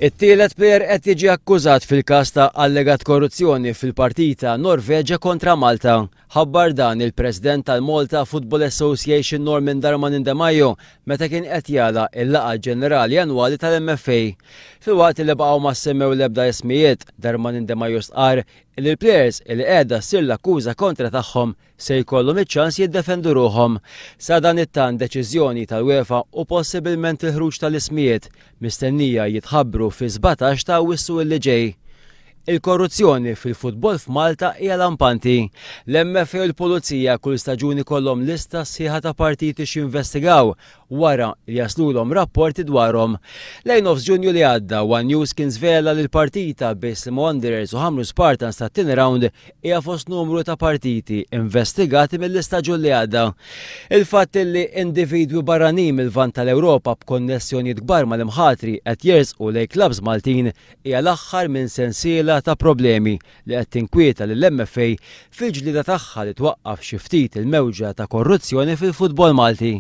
It-tielet plejer qed jiġi akkużat fil-każ ta' allegat korruzzjoni fil-partita Norveġja kontra Malta. Ħabbar dan il-President tal-Malta Football Association Norman Darmanin Demajo meta kien qed jagħlaq il-laqgħa ġenerali annwali tal-MFA. Filwaqt li baqgħu ma ssemmew l-ebda ismijiet, Darmanin Demajo stqarr li l-plejers li qiegħda ssir l-akkuża kontra tagħhom se jkollhom iċ-ċans jiddefendu ruħhom. Sadanittant deċiżjoni tal-UEFA u possibilment il-ħruġ tal-ismijiet mistennija jitħabbru fis-17 ta' Awwissu li ġej. Il-korruzzjoni fil-futbol f'Malta hija lampanti. L-MFA u l-Pulizija kull staġun ikollhom lista sħiħa ta' partiti x'jinvestigaw wara li jaslulhom rapporti dwarhom. Lejn nofs Ġunju li għadda, One News kien żvela li l-partita bejn Sliema Wanderers u Ħamrun Spartans tat-tieni round hija fost numru ta' partiti investigati mill-istaġun li għadda. Il-fatt li individwi barranin mill-Lvant tal-Ewropa b'konnessjonijiet kbar mal-imħatri qed jersqu lejn klabbs Maltin hija l-aħħar minn sensiela ta' problemi li qed tinkwieta lill-MFA fil-ġlieda tagħha li twaqqaf xi ftit il-mewġa ta' korruzzjoni fil-futbol Malti.